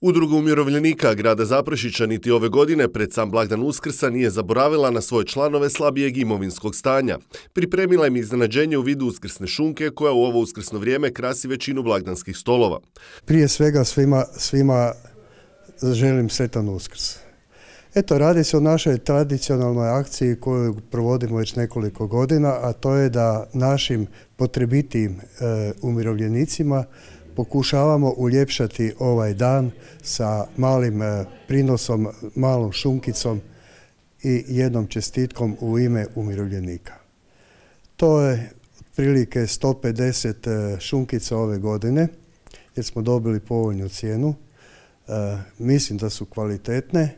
Udruga umirovljenika grada Zaprešića niti ove godine pred sam blagdan Uskrsa nije zaboravila na svoje članove slabijeg imovinskog stanja. Pripremila im iznenađenje u vidu uskrsne šunke koja u ovo uskrsno vrijeme krasi većinu blagdanskih stolova. Prije svega svima želim sretan Uskrs. Eto, radi se o našoj tradicionalnoj akciji koju provodimo već nekoliko godina, a to je da našim potrebitijim umirovljenicima pokušavamo uljepšati ovaj dan sa malim prinosom, malom šunkicom i jednom čestitkom u ime umirovljenika. To je otprilike 150 šunkica ove godine jer smo dobili povoljnu cijenu. Mislim da su kvalitetne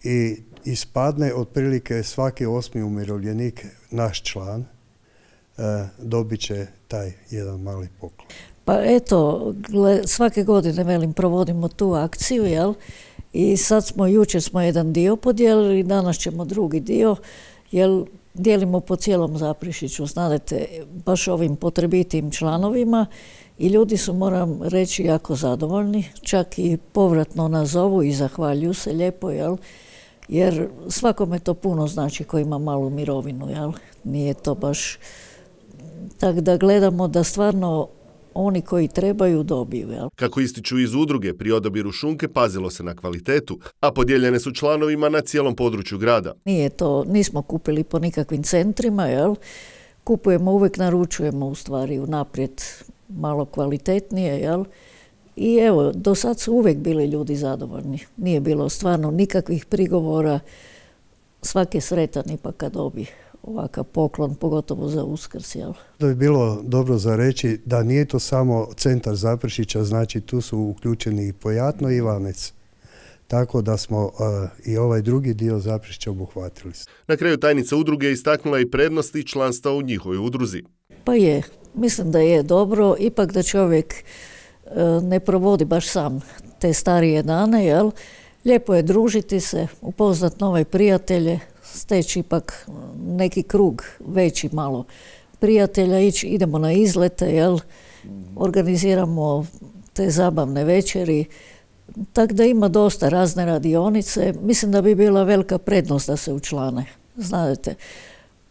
i ispadne otprilike svaki 8. umirovljenik, naš član, dobit će taj jedan mali poklon. Pa eto, svake godine, provodimo tu akciju, jel? I jučer smo jedan dio podijelili, danas ćemo drugi dio, jer dijelimo po cijelom Zaprešiću, znate, baš ovim potrebitim članovima i ljudi su, moram reći, jako zadovoljni, čak i povratno nas zovu i zahvaljuju se lijepo, jel? Jer svakome to puno znači ko ima malu mirovinu, jel? Nije to baš, tako da gledamo da stvarno oni koji trebaju dobiju. Jel? Kako ističu iz udruge, pri odabiru šunke pazilo se na kvalitetu, a podijeljene su članovima na cijelom području grada. Nismo kupili po nikakvim centrima, jel? Kupujemo, uvijek naručujemo u stvari unaprijed malo kvalitetnije, jel? I evo, do sad su uvijek bili ljudi zadovoljni. Nije bilo stvarno nikakvih prigovora, svaki je sretan ipak kad dobi ovakav poklon, pogotovo za Uskrs. Jel? Da bi bilo dobro za reći da nije to samo centar Zaprešića, znači tu su uključeni i Pojatno i Ivanec. Tako da smo i ovaj drugi dio Zaprešića obuhvatili. Na kraju tajnica udruge istaknula i prednosti članstva u njihovoj udruzi. Pa je, mislim da je dobro, ipak da čovjek ne provodi baš sam te starije dane, jel? Lijepo je družiti se, upoznat nove prijatelje, steći ipak neki krug veći malo prijatelja, idemo na izlete, jel? Organiziramo te zabavne večeri, tako da ima dosta razne radionice. Mislim da bi bila velika prednost da se učlane, znate,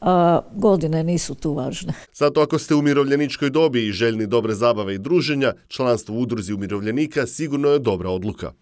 a godine nisu tu važne. Zato ako ste u umirovljeničkoj dobi i željni dobre zabave i druženja, članstvo u udruzi umirovljenika sigurno je dobra odluka.